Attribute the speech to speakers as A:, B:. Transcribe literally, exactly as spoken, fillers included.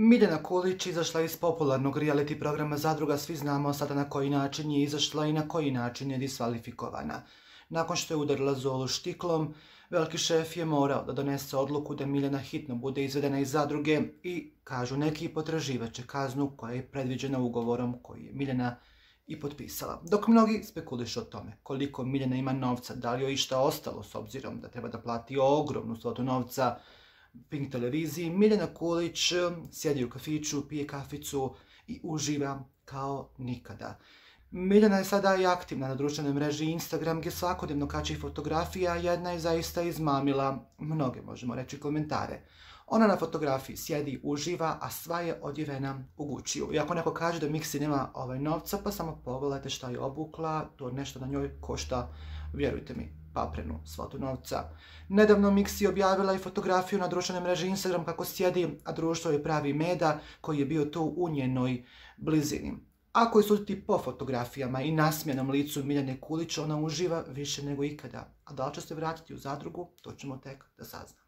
A: Miljana Kulić izašla iz popularnog reality programa Zadruga, svi znamo sada na koji način je izašla i na koji način je diskvalifikovana. Nakon što je udarila Zolu štiklom, veliki šef je morao da donese odluku da Miljana hitno bude izvedena iz Zadruge i, kažu neki, potraživaće kaznu koja je predviđena ugovorom koji je Miljana i potpisala. Dok mnogi spekulišu o tome koliko Miljana ima novca, da li joj išta ostalo s obzirom da treba da plati ogromnu svotu novca Pink televiziji, Miljana Kulić sjedi u kafiću, pije kaficu i uživa kao nikada. Miljana je sada i aktivna na društvenoj mreži Instagram gdje svakodnevno kači fotografija, jedna je zaista izmamila mnoge, možemo reći, komentare. Ona na fotografiji sjedi, uživa, a sva je odjevena u Gucci-u. I ako neko kaže da Miksi nema ovaj novca, pa samo pogledajte šta je obukla, to nešto na njoj košta, vjerujte mi, paprenu svotu novca. Nedavno Miksi objavila i fotografiju na društvenoj mreži Instagram kako sjedi, a društvo je pravi meda koji je bio tu u njenoj blizini. Ako je suditi po fotografijama i nasmijanom licu Miljane Kulić, ona uživa više nego ikada. A da li će se vratiti u Zadrugu, to ćemo tek da saznamo.